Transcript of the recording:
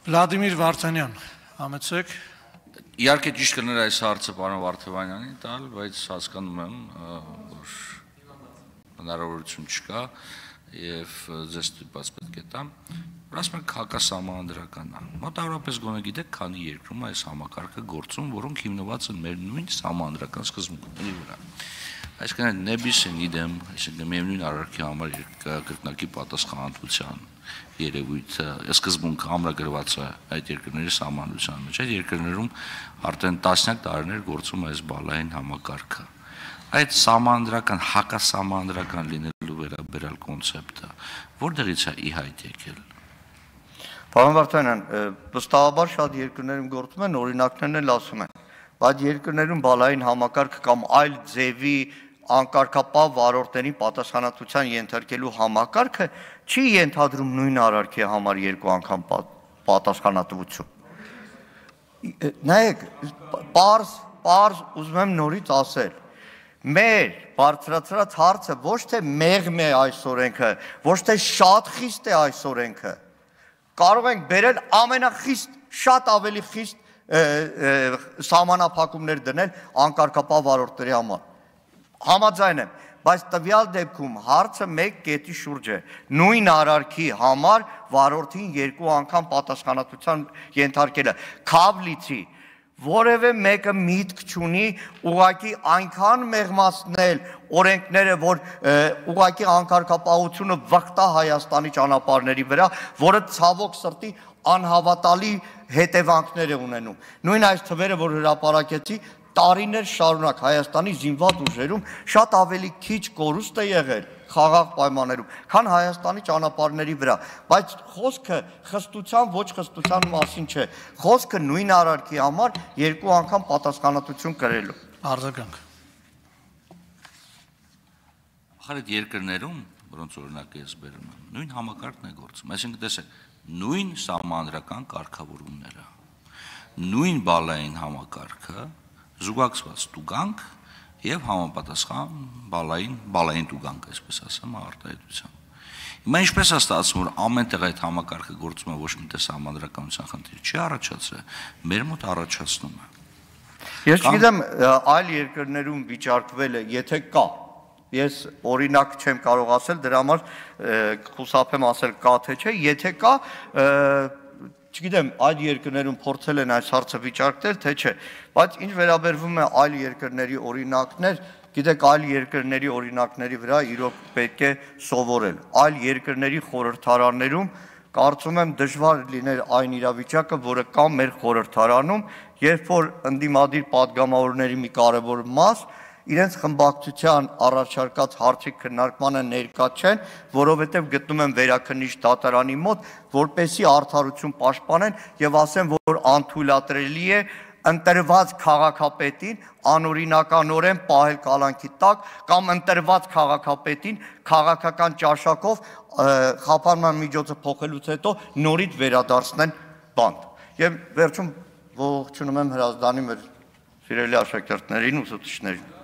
Վլադիմիր Վարդանյան, համեցեք։ Իհարկե ճիշտ կներ այս հարցը պարոն Վարդանյանին տալ, բայց հասկանում եմ, որ հնարավորություն չկա եւ ձեզ ստիպված պետք է տամ։ Ասում եք հակասահմանադրական է։ Մոտավորապես գոնե գիտեք, քանի երկրում այս համակարգը գործում, որոնք հիմնված են մեր նույն սահմանադրական սկզբունքների վրա։ Այսինքն նեբիսին իդեմ, այսինքն միևնույն արարքի համար կրկնակի պատասխանատվության երևույթը, սկզբունքը ամրագրված է այդ երկրների սահմանադրության մեջ։ Այդ երկրներում արդեն տասնյակ տարիներ գործում է այս բալային համակարգը։ Այդ սահմանադրական, հակասահմանադրական լինելու վերաբերյալ կոնցեպտը որտեղից է ի հայտ եկել։ Պարոն Վարդանյան, վստահաբար շատ երկրներում գործում են, օրինակներն էլ ասում են, բայց երկրներում բալային համակարգ կամ այլ ձևի անկարգապահ վարորդներին պատասխանատվության ենթարկելու համակարգը չի ենթադրում նույն արարքի համար երկու անգամ պատասխանատվություն։ Նայեք, պարզ ուզում եմ նորից ասել, մեր բարձրացրած հարցը ոչ թե մեղմ է այս օրենքը, ոչ թե շատ խիստ է այս օրենքը, կարող ենք բերել ամենախիստ, շատ ավելի խիստ սահմանափակումներ դնել անկարգապահ վարորդների համար։ Համաձայն եմ, բայց տվյալ դեպքում հարցը մեկ կետի շուրջ է, նույն արարքի համար վարորդին երկու անգամ պատասխանատվության ենթարկելը, քավլիցի, որևէ մեկը միտք չունի ուղղակի այնքան մեղմացնել օրենքները, որ ուղղակի անկարգապահությունը վխտա Հայաստանի ճանապարհների վրա, որը ցավոք սրտի անհավատալի հետևանքներ է ունենում։ Նույն այս թվերը, որ հրապարակեցի, տարիներ շարունակ Հայաստանի զինված ուժերում շատ ավելի քիչ կորուստ է եղել խաղաղ պայմաններում, քան Հայաստանի ճանապարհների վրա, բայց խոսքը խստության ոչ խստության մասին չէ, խոսքը նույն արարքի համար երկու անգամ պատասխանատվություն կրելու։ Արձագանք։ Այդ երկրներում, որոնց օրինակը ես բերում եմ, նույն համակարգն է գործում, այսինքն տեսեք, նույն սահմանադրական կարգավորումները, նույն բալային համակարգը, զուգակցված տուգանք եւ համապատասխան բալային տուգանք, այսպես ասեմ, արտահայտության։ Հիմա ինչպես է ստացվում, որ ամենտեղ այդ համակարգը գործում է, ոչ մի տես համադրականության խնդիր չի առաջացել, մեր մոտ առաջացնում է։ Ես չգիտեմ այլ երկրներում վիճարկվել է, եթե կա, ես օրինակ չեմ կարող ասել, դրա համար խուսափեմ ասել կա թե չէ, եթե կա, չգիտեմ, այդ երկրներում փորձել են այս հարցը վիճարկել, թե չէ, բայց ինչ վերաբերվում է այլ երկրների օրինակներ, գիտեք, այլ երկրների օրինակների վրա իրոք պետք է սովորել։ Այլ երկրների խորհրդարաններում կարծում եմ դժվար լիներ այն իրավիճակը, որը կա մեր խորհրդարանում, երբ որ ընդդիմադիր падգամավորների մի կարևոր մաս իրենց խմբակցության առաջարկած հարցի քննարկմանը ներկա չեն, որովհետև գտնում են վերաքննիչ դատարանի մոտ, որպեսզի արդարություն պաշտպանեն եւ ասեն, որ անթույլատրելի է ընտրված քաղաքապետին անօրինականորեն պահել կալանքի տակ կամ ընտրված քաղաքապետին քաղաքական ճաշակով խափանման միջոցը փոխելուց հետո նորից վերադարձնեն բանտ։ Եվ վերջում ողջունում եմ հրազդանի մեր սիրելի աշակերտներին, ուսուցիչներին։